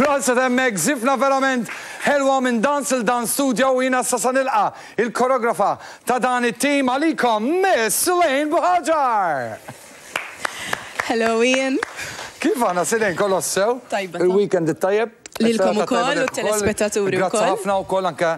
Proset hemmhekk, żifna verament ħelwa minn Dance il Dance Studio u jiena issa sa nilqa' il-koreografa ta' dan it-tim għalikom, Miss Selaine Buhagiar! Hello Ian. Kif aħna Selaine, kollox sew? Tajba. Il-weekend it-tajjeb? Lilkom ukoll u t-telespettaturi wkoll. Grazzi ħafna wkoll anke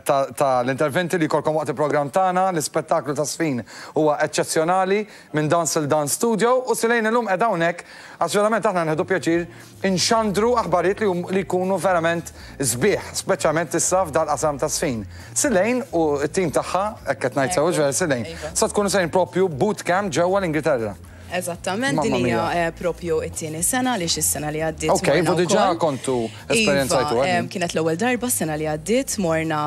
ta' l-interventi li jkollkom waqt il-programm tagħna, l-ispettaklu ta' żfin huwa eċċezzjonali minn Dance il Dance Studio u Selaine illum qiegħda hawnhekk għax verament aħna nieħdu pjaċir inxandru aħbarijiet li jkunu verament sbieħ, speċjalment issa f'dal-qasam taż-żfin. Selaine u t-tim tagħha, hekk qed ngħid sew, hux vera Selaine, sa tkunu sejrin propju bootcamp ġewwa l-Ingilterra. Eżattament, din hija propju t-tieni sena għaliex is-sena li għaddiet. Ok, fu diġà kontu esperjenzajtu. Iva, kienet l-ewwel darba s-sena li għaddiet morna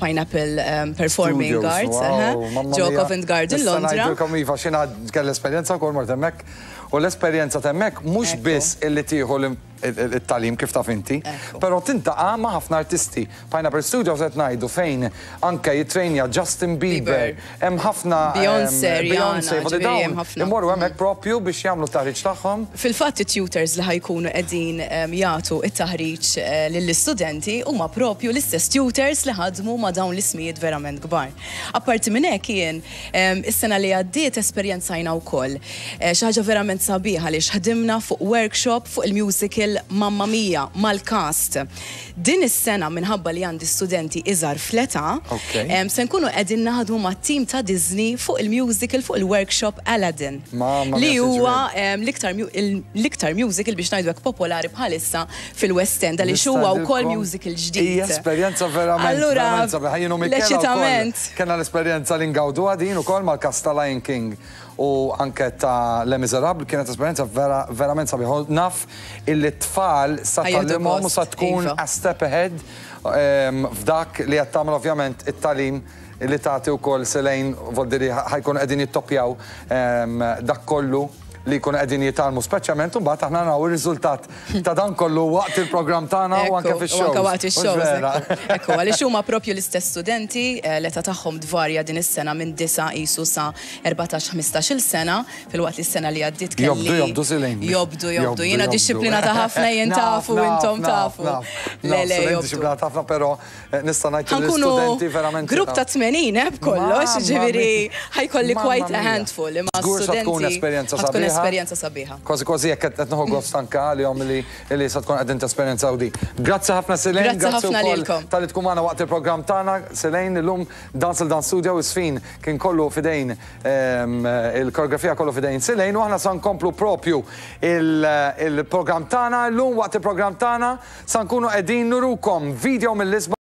Pineapple Performing Arts, ġo Covent Garden Londra. Nista' ngħidilkom iva x'jiena kelli esperjenza wkoll mort hemmhekk u l-esperjenza t'hemmhekk mhux biss illi tieħu it-tagħlim kif taf inti, però tintaqa' ma' ħafna artisti. Pineapple Studios qed ngħidu fejn anke jittrejnja Justin Bieber, hemm ħafna Beyoncé, Rihanna, ġifieri hemm ħafna. Imorru hemmhekk propju biex jagħmlu t-taħriġ tagħhom. Fil-fatt it-tutors li ħa jkunu qegħdin jagħtu t-taħriġ lill-istudenti huma propju l-istess tutors li ħadmu ma' dawn l-ismijiet verament kbar. Apparti minn hekk jien Is-sena li għaddiet esperjenzajna wkoll xi ħaġa verament sabiħa għaliex ħdimna fuq workshop fuq il-musical Mamma Mia mal-cast. Din is-sena minħabba li għandi studenti iżgħar fl-età, se nkunu qegħdin naħdmu mat-tim ta' Disney fuq il-musical fuq il-workshop Aladdin li huwa l-iktar musical biex ngħidu hekk popolari bħalissa fil-West End għaliex huwa wkoll musical ġdid. Hija esperjenza verament. Allura, l-eċitament. Kellna l-esperjenza li ngawduha din ukoll mal-cast ta' Lion King u anke ta' Les Miserables, kienet esperjenza vera verament sabiħa. U naf illi t-tfal sa tgħallimhom u sa tkun a step ahead f'dak li qed tagħmel ovvjament it-tagħlim li tagħti wkoll Selaine Voldiri ħa jkunu qegħdin jittoppjaw dak kollu li jkunu qegħdin jitgħallmu speċjalment u mbagħad aħna naraw ir-riżultat ta' dan kollu waqt il-programm tagħna u anke fix-shows. Anke waqt ix-shows. Ekku, għaliex huma propju l-istess studenti, l-età tagħhom tvarja din is-sena minn disa' qisu sa 14, 15-il sena, filwaqt li s-sena li għaddiet kelli. Jobdu, jobdu Selaine. Jobdu, jobdu. Jiena dixxiplinata ħafna jien tafu intom tafu. Le, le, jobdu. Dixxiplinata ħafna però Nista' ngħid li l-istudenti verament. Grupp ta' 80 eh b'kollox, jiġifieri ħa jkolli quite a handful imma Żgur sa tkun esperjenza sabiħa. Tkun esperjenza sabiħa. Kważi kważi hekk qed nieħu gost anke għalihom li sa tkun qegħdin tesperjenzaw din. Grazzi ħafna Selaine, grazzi ħafna lilkom. Talli tkun magħna waqt il-programm tagħna. Selaine illum Dance il Dance Studio iż-żfin kien kollu f'idejn il-koreografija kollu f'idejn Selaine u aħna sa nkomplu propju il-programm tagħna illum waqt il-programm tagħna. Sa nkunu qegħdin nurukom video mill-isbaħ.